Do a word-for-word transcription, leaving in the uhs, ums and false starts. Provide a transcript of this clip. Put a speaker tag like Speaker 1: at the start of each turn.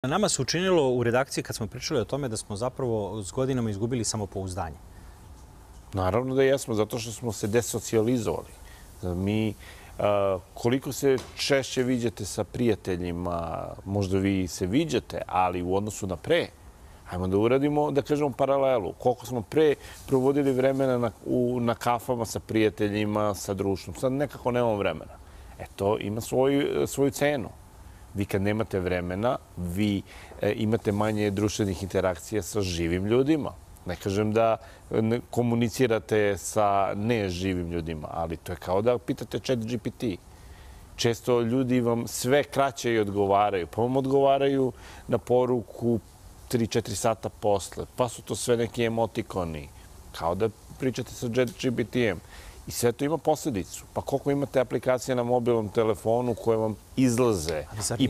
Speaker 1: Nama se učinilo u redakciji kad smo pričali o tome da smo zapravo s godinama izgubili samopouzdanje.
Speaker 2: Naravno da jesmo, zato što smo se desocijalizovali. Mi, koliko se češće viđate sa prijateljima, možda vi se viđate, ali u odnosu na pre, hajmo da uradimo, da kažemo, paralelu. Koliko smo pre provodili vremena na, u, na kafama sa prijateljima, sa društvom. Sad nekako nemamo vremena. E, to ima svoju, svoju cenu. Vi kad nemate vremena, vi e, imate manje društvenih interakcija sa živim ljudima. Ne kažem da ne komunicirate sa neživim ljudima, ali to je kao da pitate Chat G P T. Često ljudi vam sve kraće i odgovaraju. Pa vam odgovaraju na poruku tri četiri sata posle. Pa su to sve neki emotikoni. Kao da pričate sa Chat G P T-em. I sve to ima posljedicu. Pa koliko imate aplikacija na mobilnom telefonu koje vam izlaze i